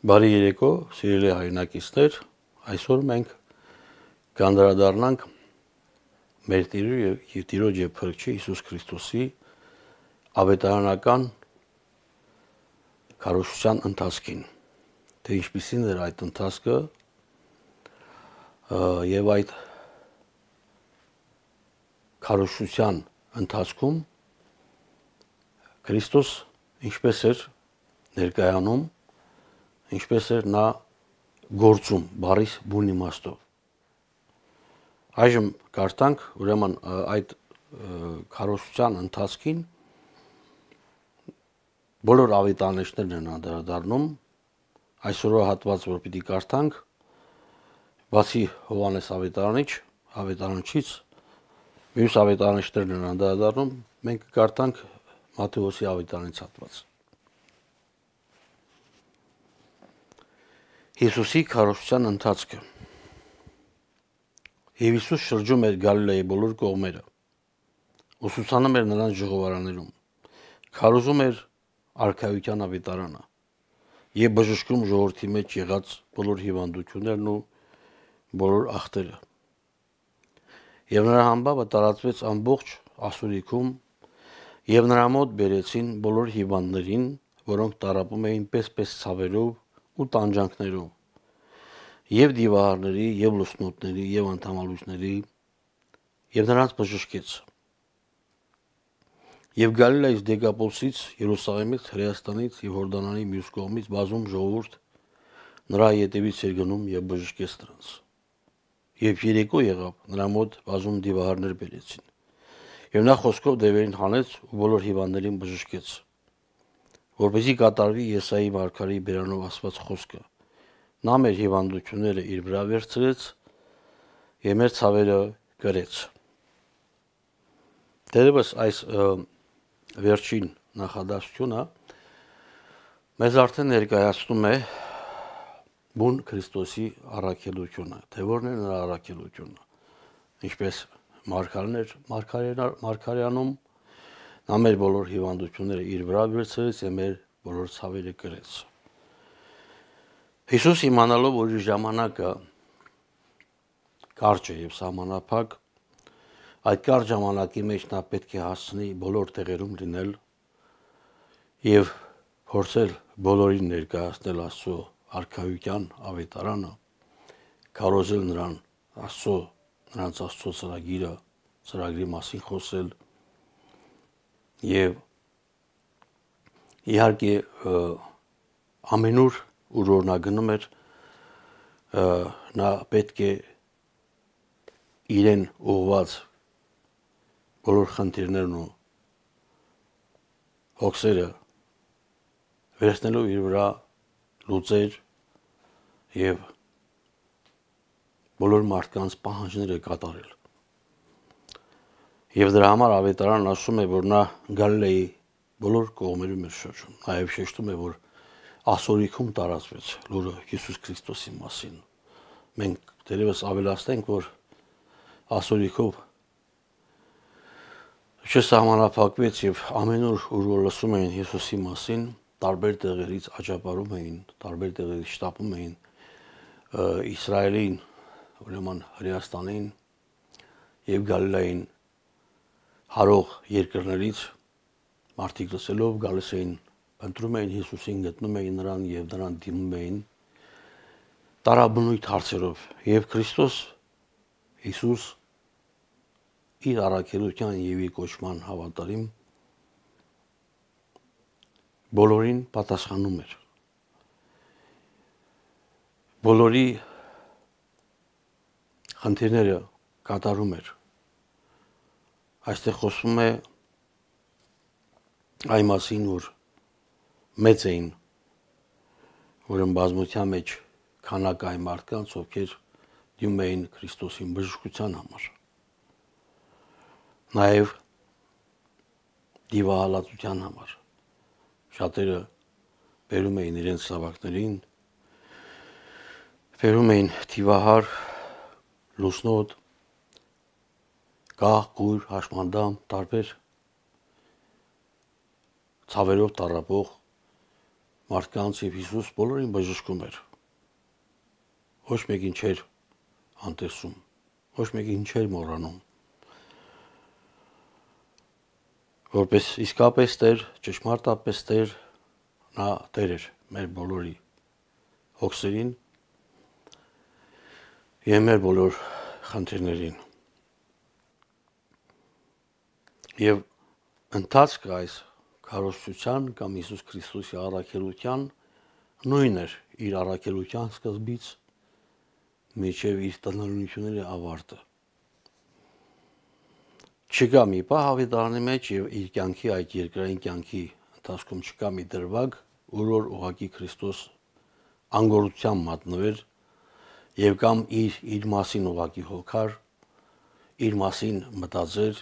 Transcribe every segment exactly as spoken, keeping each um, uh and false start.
Բարի երեկո, սիրելի հայրենակիցներ, այսօր մենք կանդրադառնանք մեր Տիրո եւ Տիրոջ եւ Փրկչի Հիսուս Քրիստոսի ավետարանական քարոզչության ընթացքին, թե ինչպիսին էր այդ ընթացքը եւ այդ քարոզչության ընթացքում Քրիստոս ինչպես էր ներկայանում, ինչպես էր նա գործում բառիս բուն իմաստով։ Այժմ կարդանք ուրեմն այդ քարոզչության ընթացքին բոլոր ավետարանիչներն են անդրադառնում, այսօրվա հատված որ պիտի կարդանք, բացի Հովհաննես ավետարանիչ, ավետարանչից մյուս ավետարանիչներն են անդրադառնում, մենք կարդանք Մատթեոսի ավետարանից հատված։ Հիսուսի քարոզչության ընթացքը։ Եվ Հիսուս շրջում էր Գալիլեայի բոլոր կողմերը, ուսուցանում էր նրանց ժողովարաններում, քարոզում էր արքայության ավետարանը եւ բժշկում ժողովրդի մեջ եղած բոլոր հիվանդություններն ու բոլոր ախտերը։ Եվ նրա համբավը տարածվեց ամբողջ ասորիքում, եւ նրա մոտ բերեցին բոլոր հիվանդներին, որոնք տառապում էին պես-պես ցավերով ու տանջանքներով, եւ դիվահարների, եւ լուսնոտների, եւ անդամալուծների, եւ նրանց բժշկեց։ Եվ Գալիլեայից, Դեկապոլսից, Երուսաղեմից, Հրեաստանից եւ Հորդանանի մյուս կողմից բազում ժողովուրդ նրա ետևից էր գնում եւ բժշկեց նրանց։ Եվ երեկո եղավ, նրա մոտ բազում դիվահարներ բերեցին։ Եվ նա խոսքով դևերին հանեց ու բոլոր հիվանդներին բժշկեց, որպեսզի կատարվի Եսայի մարգարեի բերանով ասված խոսքը. նա մեր հիվանդությունները իր վրա վերցրեց եւ մեր ցավերը կրեց։ Դերևս այս վերջին նախադասությունը մեզ արդեն ներկայացնում է բուն Քրիստոսի առաքելությունը, թե որն է նրա առաքելությունը, ինչպես մարգարեներ մարգարեանում, նա մեր բոլոր հիվանդությունները իր վրա վերցրեց եւ մեր բոլոր ցավերը կրեց։ Հիսուս իմանալով, որ իր ժամանակը կարճ է եւ սահմանափակ, այդ կարճ ժամանակի մեջ նա պետք է հասցնի բոլոր տեղերում լինել եւ փորձել բոլորին ներկայացնել Աստծո արքայության ավետարանը, քարոզել նրան Աստծո, նրանց Աստծո ծրագիրը, ծրագրի մասին խոսել եւ իհարկե ամենուր ուր որ նա գնում էր, նա պետք է իրեն ուղված բոլոր խնդիրներն ու հոգսերը վերցնելով իր վրա լուծեր եւ բոլոր մարդկանց պահանջները կատարել։ Եվ դրա համար ավետարանն ասում է, որ նա Գալիլեայի բոլոր կողմերում էր շրջում, նաեւ շեշտում է, որ ասորիքում տարածվեց լուրը Հիսուս Քրիստոսի մասին։ Մենք դերևս ավելացնենք, որ ասորիքով չսահմանափակվեց եւ ամենուր ուր որ լսում էին Հիսուսի մասին, տարբեր տեղերից աճապարում էին, տարբեր տեղերից շտապում էին Իսրայելին, ուրեմն Հրեաստանին եւ Գալիլեային հարող երկրներից մարդիկ լսելով գալիս էին, ընտրում էին Հիսուսին, գտնում էին նրան եւ նրան դիմում էին տարաբնույթ հարցերով եւ Քրիստոս Հիսուս իր առաքելության եւ իր կոչման հավատարիմ բոլորին պատասխանում էր։ Բոլորի խնդիրները կատարում էր։ Այստեղ խոսվում է այն մասին, որ մեծ էին, որն բազմության մեջ քանակ այն մարդկանց, ովքեր դիմում էին Քրիստոսին բժշկության համար։ Նաեւ դիվահալածության համար։ Շատերը բերում էին իրենց զավակներին, բերում էին դիվահար, լուսնոտ, գահ, կույր, հաշմանդամ, տարբեր ցավերով տառապող մարդկանց եւ Հիսուս բոլորին բժշկում էր։ Ոչ մեկին չէր անտեսում, ոչ մեկին չէր մոռանում։ Որպես իսկապես Տեր, ճշմարտապես Տեր, նա Տեր էր մեր բոլորի հոգսերին եւ մեր բոլոր խնդիրներին։ Եվ ընթացքը այս քարոզչության կամ Հիսուս Քրիստոսի առաքելության նույն էր իր առաքելության սկզբից մինչև իր տնօրինությունների ավարտը։ Չկա մի պահ Ավետարանի մեջ եւ իր կյանքի այդ երկրային կյանքի ընթացքում չկա մի դրվագ, որ ուղղակի Քրիստոս անգորության մատնվեր եւ կամ իր իր մասին ուղղակի հոգար, իր մասին մտածեր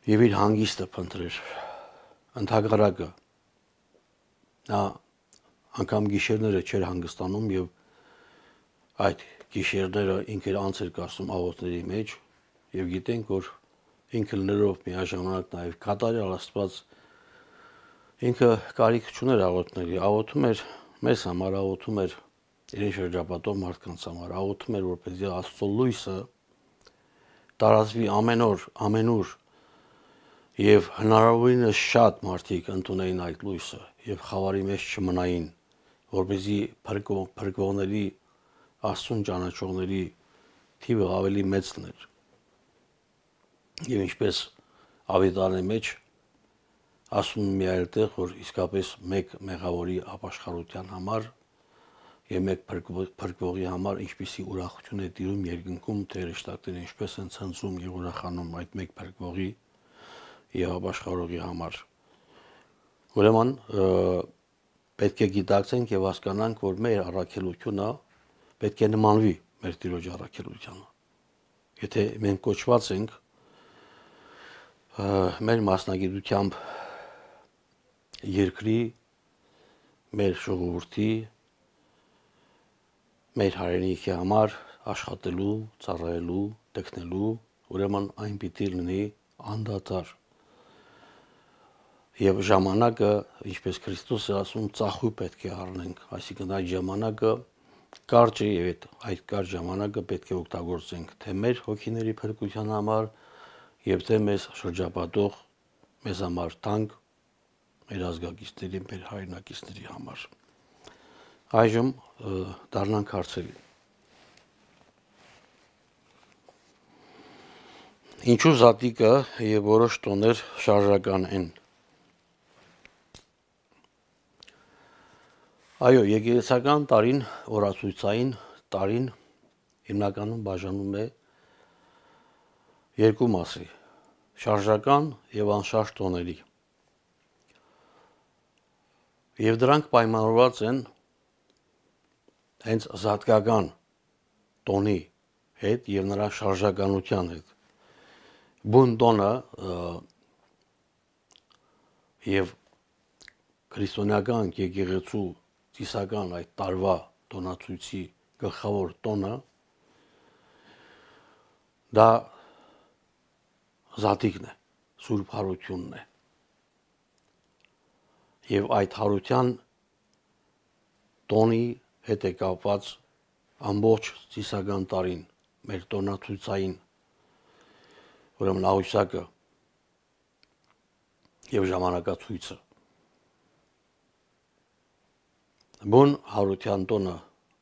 եւ իր հանգիստը փնտրեր։ Ընդհակառակը նա անգամ գիշերները չէր հանգստանում եւ այդ գիշերները ինքը անց էր կացնում աղոթների մեջ եւ գիտենք որ ինքը լներով միաժամանակ նաեւ կատարյալ Աստված ինքը կարիք չուներ աղոթների, աղոթում էր մեզ համար, աղոթում էր իր շրջապատող մարդկանց համար, աղոթում էր որպեսզի Աստծո լույսը տարածվի ամեն օր, ամենուր եւ հնարավորինս շատ մարդիկ ընդունեին այդ լույսը եւ խավարի մեջ չմնային, որպեսզի փրկվողների Աստծուն ճանաչողների թիվը ավելի մեծ լիներ։ Եվ ինչպես Ավետարանի մեջ ասում մի այլ տեղ, որ իսկապես մեկ մեղավորի ապաշխարության համար եւ մեկ փրկվողի համար ինչպիսի ուրախություն է տիրում երկնքում, թե հրեշտակները ինչպես են ցնծում եւ ուրախանում այդ մեկ փրկվողի եւ ապաշխարողի համար։ Ուրեմն պետք է գիտակցենք եւ հասկանանք, որ մեր առաքելությունը պետք է նմանվի մեր Տիրոջ առաքելությանը։ Եթե մենք կոչված ենք մեր մասնագիտությամբ երկրի, մեր ժողովրդի, մեր հայրենիքի համար աշխատելու, ծառայելու, տեքնելու, ուրեմն այն պիտի լինի անդադար։ Եվ ժամանակը, ինչպես Քրիստոսը ասում, ծախույլ պետք է առնենք, այսինքն այդ ժամանակը կարճ է եւ այդ կարճ ժամանակը պետք է օգտագործենք թե մեր հոգիների փրկության համար եւ թե մեզ շրջապատող մեզ համար թանկ մեր ազգակիցների, մեր հայրենակիցների համար։ Այժմ դառնանք հարցերի։ Ինչու զատիկը եւ որոշ տոներ շարժական են։ Այո, եկեղեցական տարին, օրացույցային տարին հիմնականում բաժանում է երկու մասի՝ շարժական եւ անշարժ տոների։ Եվ դրանք պայմանավորված են հենց զատկական տոնի հետ եւ նրա շարժականության հետ։ Բուն տոնը եւ քրիստոնեական եկեղեցու ծիսական այդ տարվա տոնացույցի գլխավոր տոնը դա զատիկն է, սուրբ հարությունն է։ Եվ այդ հարության տոնի հետ է կապված ամբողջ ծիսական տարին մեր տոնացույցային ուրեմն աղյուսակը եւ ժամանակացույցը։ Բուն հարության տոնը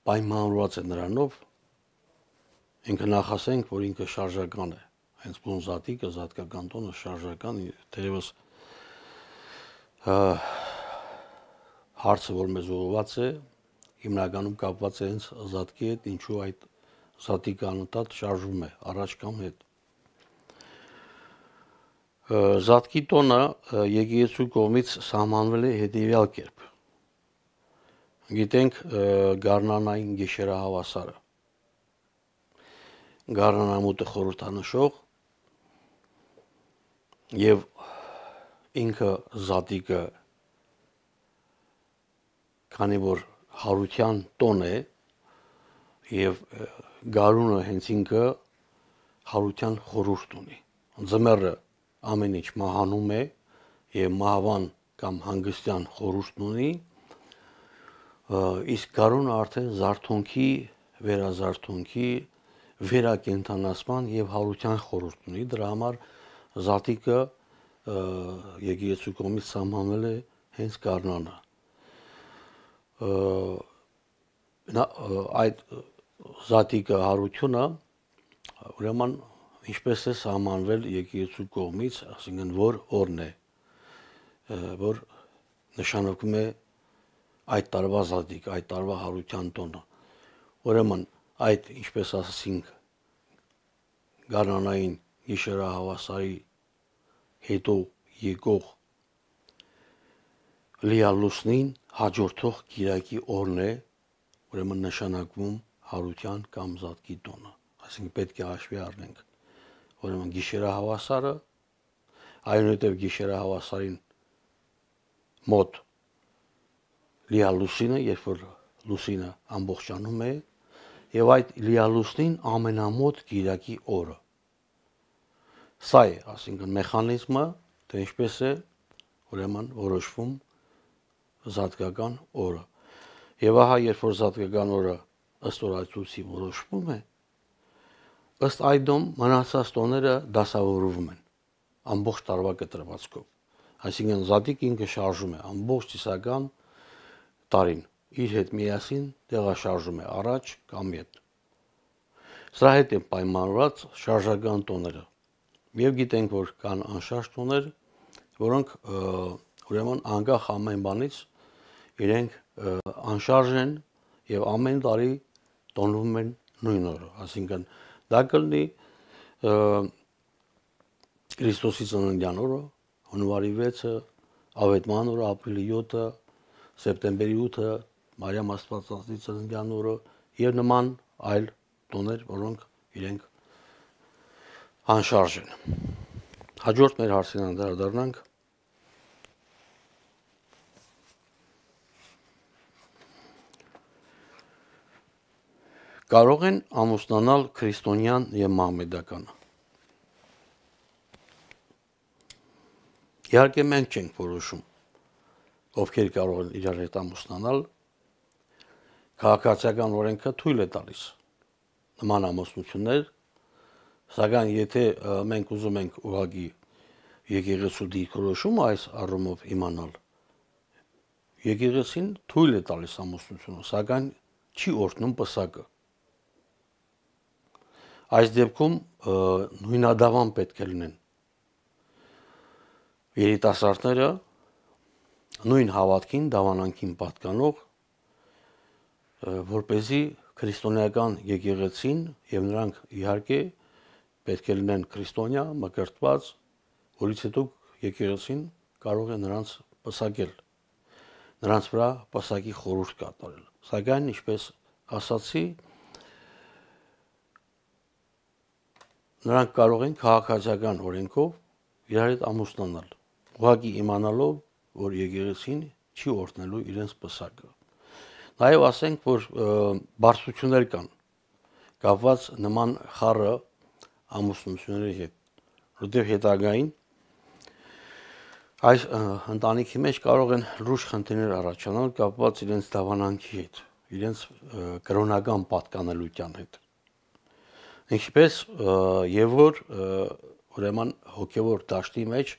պայմանավորված է նրանով, ինքը նախասենք, որ ինքը շարժական է, հենց բուն զատիկը, զատկական տոնը շարժական, թերևս հարցը, որ մեզ ուղղված է, հիմնականում կապված է հենց զատկի հետ, ինչու այդ զատիկը անընդհատ շարժվում է առաջ կամ հետ։ Զատկի տոնը եկեղեցու կողմից սահմանվել է հետևյալ կերպ։ Գիտենք գարնանային գիշերահավասարը, գարնանամուտը խորհրդանշող եւ ինքը զատիկը, քանի որ հարության տոն է եւ գարունը հենց ինքը հարության խորհուրդ ունի։ Ձմեռը ամեն ինչ մահանում է եւ մահվան կամ հանգստյան խորհուրդն ունի, իսկ գարունը արդեն զարթոնքի, վերազարթոնքի, վերակենդանացման եւ հարության խորհուրդ ունի, դրա համար զատիկը եկեղեցու կողմից սահմանվել է հենց գարնանը։ Այդ զատիկը հարությունը ուրեմն ինչպես է սահմանվել եկեղեցու կողմից, ասինքն որ օրն է, որ նշանակում է այդ տարվա զատիկ, այդ տարվա հարության տոնը։ Ուրեմն այդ, ինչպես ասացինք, գարնանային գիշերահավասարի հետո եկող լիալուսնին հաջորդող կիրակի օրն է, ուրեմն նշանակվում հարության կամ զատկի տոնը, այսինքն պետք է հաշվի առնենք, ուրեմն գիշերահավասարը, այնուհետև գիշերահավասարին մոտ լիալուսինը, երբ որ լուսինը ամբողջանում է, եւ այդ լիալուսնին ամենամոտ կիրակի օրը։ Սա է, ասինքն մեխանիզմը, թե ինչպես է ուրեմն որոշվում զատկական օրը։ Եվ ահա, երբ որ զատկական օրը ըստ օրացույցի որոշվում է, ըստ այդմ մնացած տոները դասավորվում են ամբողջ տարվա կտրվածքով։ Այսինքն զատիկ ինքը շարժում է ամբողջ ծիսական տարին, իր հետ միասին տեղաշարժում է առաջ կամ ետ։ Սրա հետ է պայմանավորված շարժական տոները։ Եվ գիտենք, որ կան անշարժ տոներ, որոնք ուրեմն անկախ ամեն բանից իրենք անշարժ են եւ ամեն տարի տոնվում են նույն օրը, այսինքն դա կլինի Քրիստոսի ծննդյան օրը, հունվարի վեցը, ավետման օրը, ապրիլի յոթը, սեպտեմբերի ութը, Մարիամ Աստվածածնի ծննդյան օրը եւ նման այլ տոներ, որոնք իրենք անշարժ են։ Հաջորդ մեր հարցին անդրադառնանք։ Կարող են ամուսնանալ քրիստոնյան եւ մահմեդականը։ Իհարկե մենք չենք որոշում, ովքեր կարող են իրար հետ ամուսնանալ, քաղաքացիական օրենքը թույլ է տալիս նման ամուսնություններ, սակայն եթե մենք ուզում ենք ուղղակի եկեղեցու դիրքորոշումը այս առումով իմանալ, եկեղեցին թույլ է տալիս ամուսնությունը, սակայն չի օրհնում պսակը։ Այս դեպքում նույնադավան պետք է լինեն երիտասարդները նույն հավատքին, դավանանքին պատկանող, որպեսզի քրիստոնեական եկեղեցին եւ նրանք իհարկե պետք է լինեն քրիստոնյա, մկրտված, որից հետո եկեղեցին կարող է նրանց պսակել, նրանց վրա պսակի խորհուրդ կատարել։ Սակայն, ինչպես ասացի, նրանք կարող են քաղաքացիական օրենքով իրար հետ ամուսնանալ, ուղղակի իմանալով, որ եկեղեցին չի օրհնելու իրենց պսակը։ Նաև ասենք, որ բարձրություններ կան կապված նման խառը ամուսնությունների հետ, որտեղ հետագային այս ընտանիքի մեջ կարող են լուրջ խնդիրներ առաջանալ կապված իրենց դավանանքի հետ, իրենց կրոնական պատկանելության հետ։ Ինչպես եւ որ ուրեմն հոգեվոր դաշտի մեջ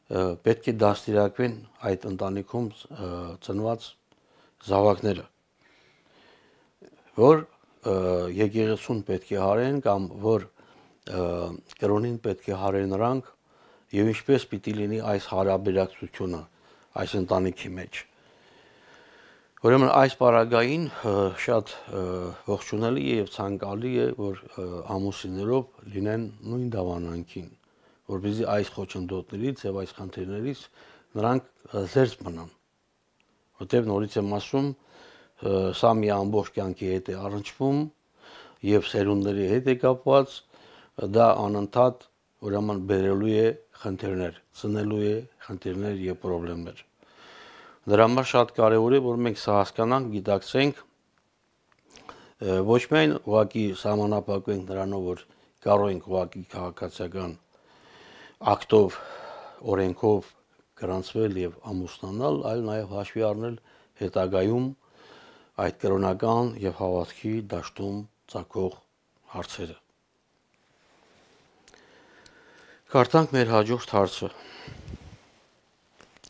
պետք է դաստիարակվեն այդ ընտանիքում ծնված զավակները, որ եկեղեցուն պետք է հարեն կամ որ կրոնին պետք է հարեն նրանք եւ ինչպես պիտի լինի այս հարաբերակցությունը այս ընտանիքի մեջ։ Ուրեմն այս պարագային շատ ողջունելի է եւ ցանկալի է, որ ամուսիններով լինեն նույն դավանանքին, որպեսզի այս խոչընդոտներից եւ այս խնդիրներից նրանք զերծ մնան։ Որտեւ նորից եմ ասում, սա մի ամբողջ կյանքի հետ է առնչվում եւ սերունդների հետ է կապված, դա անընդհատ ուրեմն բերելու է խնդիրներ, ծնելու է խնդիրներ եւ խնդիրներ։ Դրա համար շատ կարևոր է, որ մենք սա հասկանանք, գիտակցենք, ոչ միայն ուղղակի սահմանափակվենք նրանով, որ կարող ենք ուղղակի քաղաքացիական ակտով, օրենքով գրանցվել եւ ամուսնանալ, այլ նաեւ հաշվի առնել հետագայում այդ կրոնական եւ հավատքի դաշտում ցակող հարցերը։ Կարդանք մեր հաջորդ հարցը։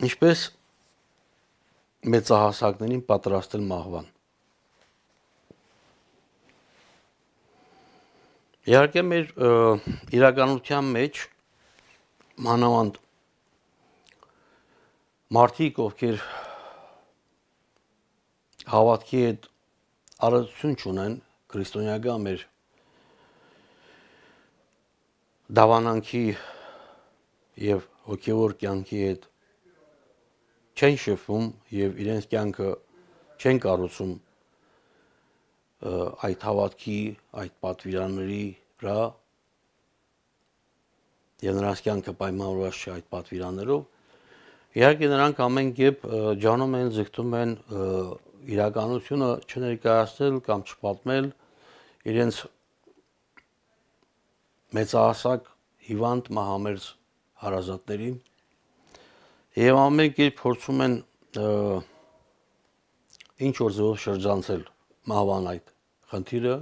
Ինչպես մեծահասակներին պատրաստել մահվան։ Իհարկե մեր իրականության մեջ մանավանդ մարդիկ, ովքեր հավատքի հետ առնչություն չունեն քրիստոնեական մեր դավանանքի եւ հոգեվոր կյանքի հետ չեն շփվում եւ իրենց կյանքը չեն կառուցում այդ հավատքի, այդ պատվիրանների վրա եւ նրանց կյանքը պայմանավորված չէ այդ պատվիրաններով, իհարկե նրանք ամեն կերպ ջանում են, ձգտում են իրականությունը չներկայացնել կամ չպատմել իրենց մեծահասակ հիվանդ մահամերձ հարազատներին եւ ամեն կերպ փորձում են ինչ որ ձևով շրջանցել մահվան այդ խնդիրը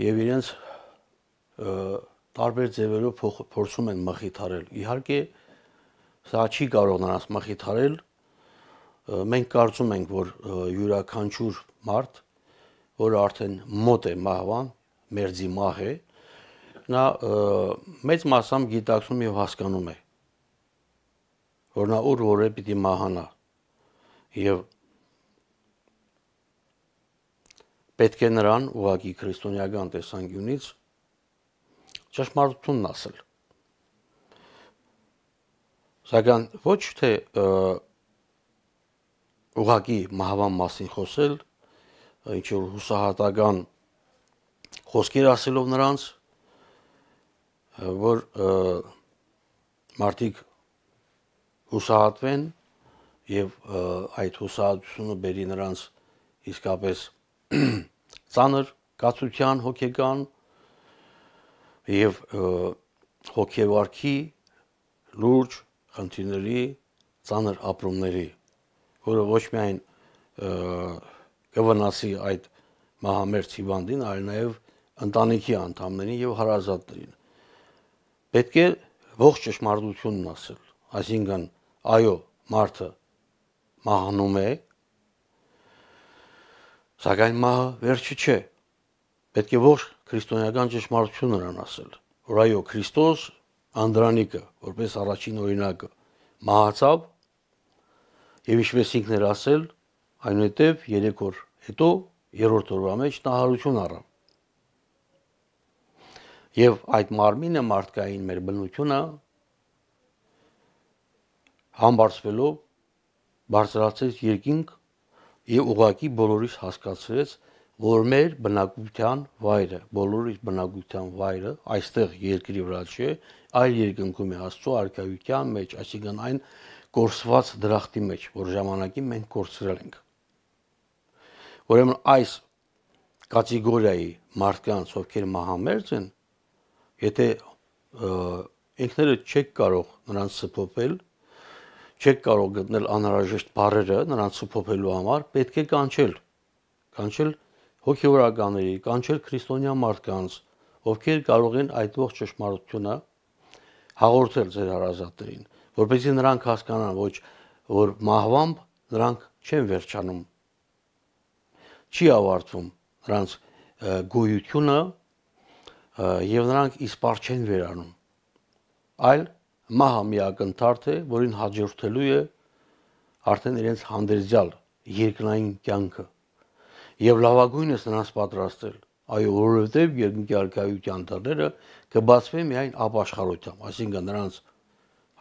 եւ իրենց տարբեր ձևերով փորձում են մխիթարել։ Իհարկե սա չի կարող նրանց մխիթարել։ Մենք կարծում ենք, որ յուրաքանչյուր մարդ, որը արդեն մոտ է մահվան, մերձի մահ է, նա մեծ մասամբ գիտակցում եւ հասկանում է, որ նա ուր որ է պիտի մահանա եւ պետք է նրան ուղղակի քրիստոնեական տեսանկյունից ճշմարտությունն ասել։ Սակայն ոչ թե ուղղակի մահվան մասին խոսել, ինչ որ հուսահատական խոսքեր ասելով նրանց, որ մարդիկ հուսահատվեն եւ այդ հուսահատությունը բերի նրանց իսկապես ծանր կացության հոգեկան եւ հոգեվարքի լուրջ խնդիրների, ծանր ապրումների, որը ոչ միայն կվնասի այդ մահամերձ հիվանդին, այլ նաեւ ընտանիքի անդամներին եւ հարազատներին։ Պետք է ողջ ճշմարտությունն ասել, այսինքն այո, մարդը մահանում է, սակայն մահը վերջը չէ։ Պետք է ողջ քրիստոնեական ճշմարտությունը նրան ասել, որ այո, Քրիստոս անդրանիկը, որպես առաջին օրինակը, մահացավ եւ ինչպես ինքն էր ասել, այնուհետև երեք օր հետո երրորդ օրվա մեջ նա հարություն առավ։ Եվ այդ մարմինը մարդկային մեր բնությունը համբարձվելով բարձրացեց երկինք եւ ուղղակի բոլորիս հասկացրեց, որ մեր բնակության վայրը, բոլորիս բնակության վայրը այստեղ երկրի վրա չէ, այլ երկնքում է Աստծո արքայության մեջ, այսինքն այն կորսված դրախտի մեջ, որ ժամանակին մենք կորցրել ենք։ Ուրեմն այս կատեգորիայի մարդկանց, ովքեր մահամերձ են, եթե ինքներդ չեք կարող նրանց սփոփել, չեք կարող գտնել անհրաժեշտ բառերը նրանց սփոփելու համար, պետք է կանչել, կանչել հոգեվորականների, կանչել քրիստոնյա մարդկանց, ովքեր կարող են այդ ողջ ճշմարտությունը հաղորդել ձեր հարազատներին, որպեսզի նրանք հասկանան, ոչ որ մահվամբ նրանք չեն վերջանում, չի ավարտվում նրանց գոյությունը եւ նրանք իսպառ չեն վերանում, այլ մահը մի ակնթարթ է, որին հաջորդելու է արդեն իրենց հանդերձյալ երկնային կյանքը եւ լավագույնս նրանց պատրաստել, այո, որովհետեւ երկնքի արքայության դռները կբացվեն միայն ապաշխարությամբ, այսինքն նրանց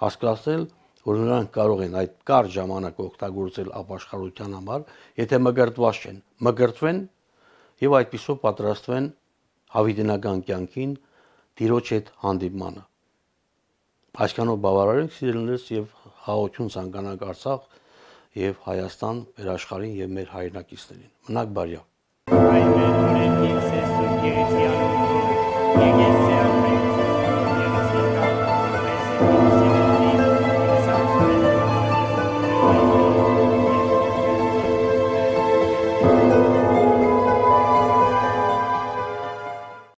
հասկացնել, որ նրանք կարող են այդ կարճ ժամանակ օգտագործել ապաշխարության համար, եթե մկրտված չեն, մկրտվեն եւ այդպիսով պատրաստվեն հավիտենական կյանքին, Տիրոջ հետ հանդիպմանը։ Այսքանով բավարար ենք սիրելիներս եւ հաղորդություն ցանկանանք Արցախ եւ Հայաստան մեր աշխարհին եւ մեր հայրենակիցներին։ Մնաք բարյավ։